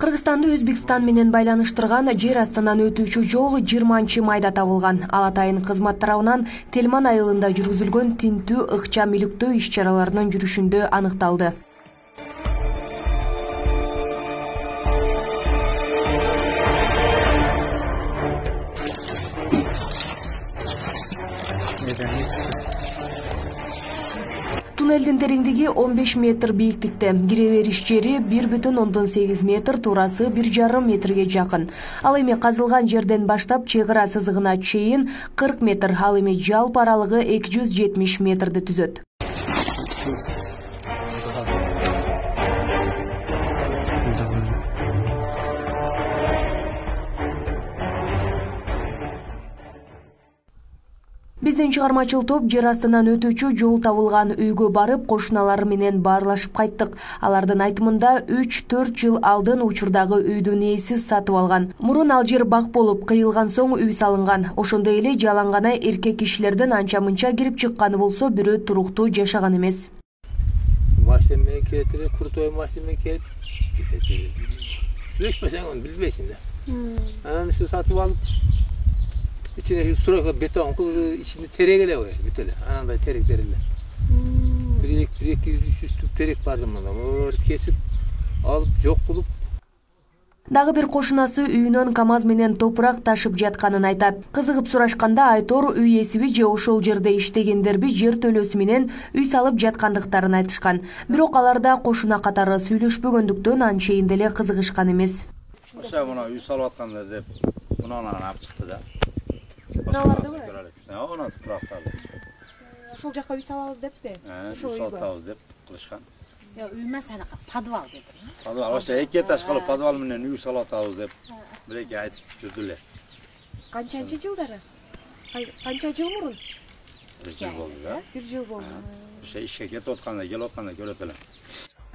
Кыргызстанды Өзбекстан менен байланыштырган жер астынан өтүүчү жол 20 майда табылган. Ал атайын кызмат тарабынан Телман айылында жүргүзүлгөн тинтүү ыкчам иликтөө иш-чараларынын жүрүшүндө аныкталды. Туннелдин тереңдиги 15 метр бийиктикте, кире бериш жери 1,8 метр, туурасы 1,5 метрге жакын. Ал эми казылган жерден баштап чек ара сызыгына чейин 40 метр, ал эми жалпы аралыгы 270 метрди түзөт. Биздин чыгармачыл топ жер астынан өтүүчү жол табылган үйгө барып, кошуналары менен баарлашып кайттык. Алардын айтымында 3-4 жыл алдын учурдагы үйдүн ээси сатып алган. Мурун ал жер бак болуп, кыйылган соң үй салынган. Ошондой эле жалаң гана эркек кишилердин анча-мынча кирип чыкканы болсо, бирөө туруктуу жашаган эмес. Машина менен келет эле, крутой машина менен келип кетет эле. Сүйлөшпөсөң аны билбейсиң да. Анан ушу сатып алып, İçine stroka beton kıldı, içinde terek ele var, bütün ele. Ananda terekler ele. Bir iki üç tüp terek vardı bana. Orada kesip alıp yok bulup. Дагы бир кошунасы үйүнөн КамАЗ менен топурак ташып жатканын айтат. Кызыгып сурашканда Айтор үй ээсиби же ошол жерде иштегендерби жер төлөөсү менен үй салып жаткандыктарын айтышкан. Бирок аларда кошуна катары сүйлөшпөгөндүктөн анчейин деле кызыгышкан эмес. Ошо мына үй салып аткандар деп мунан алып чыкты да. Мыналарды бар? Ona tuproqlarda. Ошол жакка үй салабыз деппи? Ошо үй салабыз деп кылышкан. Үй эмес, анака подвал деди. Подвал, ошо эки этаж кылып подвал менен үй салатабыз деп биреке айтып жүрдү эле. Канчанчы жылдары? Канча жыл мурун? 1 жыл болду да. 1 жыл болду. Ошо ишке кетип атканда, келип атканда көрөт элем.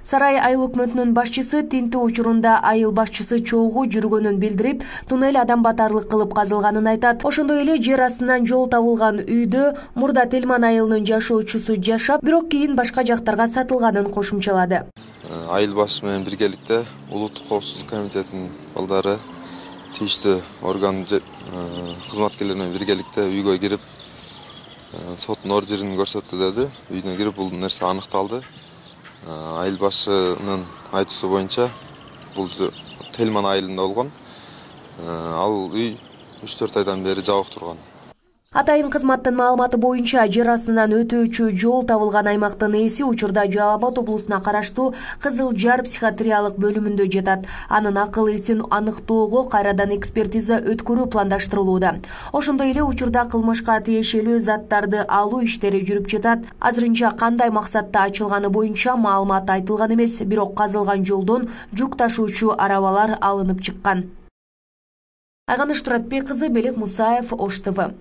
Сарай айыл өкмөтүнүн башчысы тинтүү учурунда айыл башчысы чогуу жүргөнүн билдирип, туннель адам батарлык кылып казылганын айтат. Ошондой эле жер астынан жол табылган үйдө мурда Телман айылынын жашоочусу жашап, бирок кийин башка жактарга сатылганын кошумчалады. Айыл башчысы менен биргеликте Улуттук коопсуздук комитетинин балдары тийиштүү орган кызматкерлери менен биргеликте үйгө кирип, соттун ордерин көрсөттү деди. Үйүнө кирип бул нерсе аныкталды. Айыл башчынын айтуусу боюнча бул Телман айылында болгон. Ал үй 3-4 айдан бери жабык турган. Атайын кызматтын маалыматы боюнча жер астынан өтүүчү жол табылган аймактын ээси учурда Жалал Абад облусуна караштуу Кызыл Жар психиатриялык бөлүмүндө жатат. Анын акыл эсин аныктоого кайрадан экспертиза өткөрүү пландаштырылууда. Ошондой эле учурда кылмышка тиешелүү заттарды алуу иштери жүрүп жатат. Азырынча кандай максатта ачылганы боюнча маалымат айтылган эмес, бирок казылган жолдон жүк ташуучу арабалар алынып чыккан. Айганыш Туратбек кызы, Белек Мусаев, Ош ТВ.